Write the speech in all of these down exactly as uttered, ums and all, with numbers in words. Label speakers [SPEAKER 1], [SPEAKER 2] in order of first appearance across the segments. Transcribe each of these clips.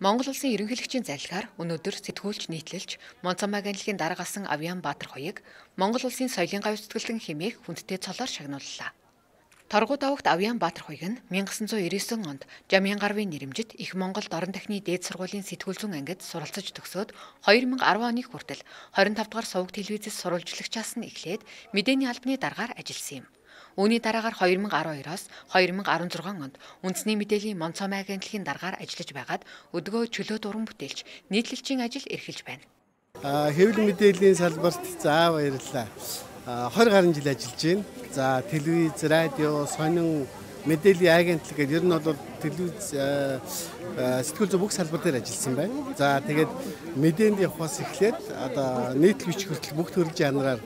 [SPEAKER 1] Монгол улсын ерөнхийлөгчийн залхиар өнөөдөр сэтгүүлч нийтлэлч Монцомаг анилгийн дарга асан Авиан Баатар хоёрыг Монгол улсын соёлын гавь зүтгэлтэн хэмээх хүндтэй цолоор шагнууллаа. Торгуу давагт Авиан Баатар хоёрыг нь 천ix ninety nine онд Жамяан гарвын нэрэмжит их Монголд орон тахны дээд сургуулийн сэтгүүл зүйн ангид суралцаж төгсөөд two thousand ten оны хүртэл twenty-five дугаар суваг телевизэс сурвалжлагчаас нь эхлээд мэдээний албаны даргаар ажилласан юм. Үүний дараагаар two thousand twelve-оос two thousand sixteen онд үндэсний мэдээллийн Монцомаг анилгийн даргаар ажиллаж байгаад өдгөө чөлөө дуран бүтээлч нийтлэлчийн ажил эрхэлж байна.
[SPEAKER 2] Аа хэвлэл мэдээллийн салбарт заа баярлалаа. twenty гаруй жил ажиллаж байна. За телевиз, радио, сонин, мэдээллийн агентлаг гэдэг ер нь бол телевиз сэтгүүл зүйн бүх салбар дээр ажилласан байна. За тэгээд мэдээнд явахаас эхлээд одоо нийтлэгч хүртэл бүх төрлийн жанраар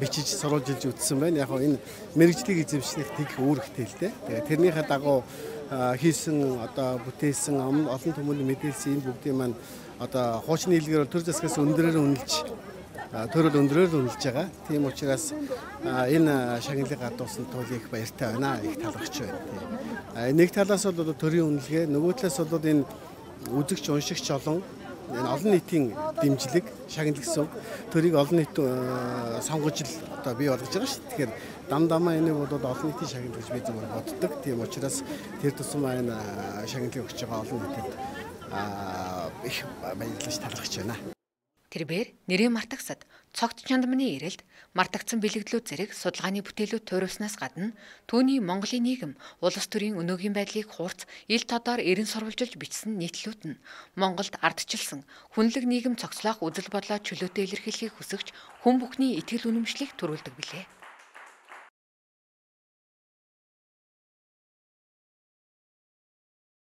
[SPEAKER 2] бичиж сурвалжилж үтсэн байна. Яг энэ мэрэгжлийг эзэмшнэх тэг үүрэгтэй л дээ. Тэгээд тэрнийхээ дагуу хийсэн одоо бүтээсэн олон түмэнд мэдээлсэн энэ бүгдийн маань одоо хуучны хэлгээр төр засгаас өндөрөөр үнэлж төрөл өндрөөр үнэлж байгаа. Тийм учраас энэ шагналыг гадуусан тул их баяртай байна. Их талархж байна. Нэг талаас бол одоо төрийн үнэлгээ, нөгөө талаас бол энэ үзэгч уншигч олон энэ олон нийтийн дэмжлэг шагнал гэсэн төрийг олон нийт сонгож л одоо бий болгож байгаа шүү. Тэгэхээр дам дамаа энийг бол олон нийтийн шагнал гэж би зөвхөн боддог. Тийм учраас тэр тусам энэ шагналыг өгч байгаа олон нийтэд их баярлаж талархж байна.
[SPEAKER 1] Тэрбээр нэрийн мартагсад цогт чандманы ирэлд мартагдсан бэлэгдлүүд зэрэг судалгааны бүтээлүүд туйруулснаас гадна түүний Монголын нийгэм улс төрийн өнөөгийн байдлыг хуурц ил тодоор эрен сурвалжилж бичсэн нийтлүүд нь Монголд ардчилсан хүнлэг нийгэм цогцлоох үзэл бодлоо чөлөөтэй илэрхийлэхийг хүсэгч хүн бүхний итгэл үнэмшлийг төрүүлдэг билээ.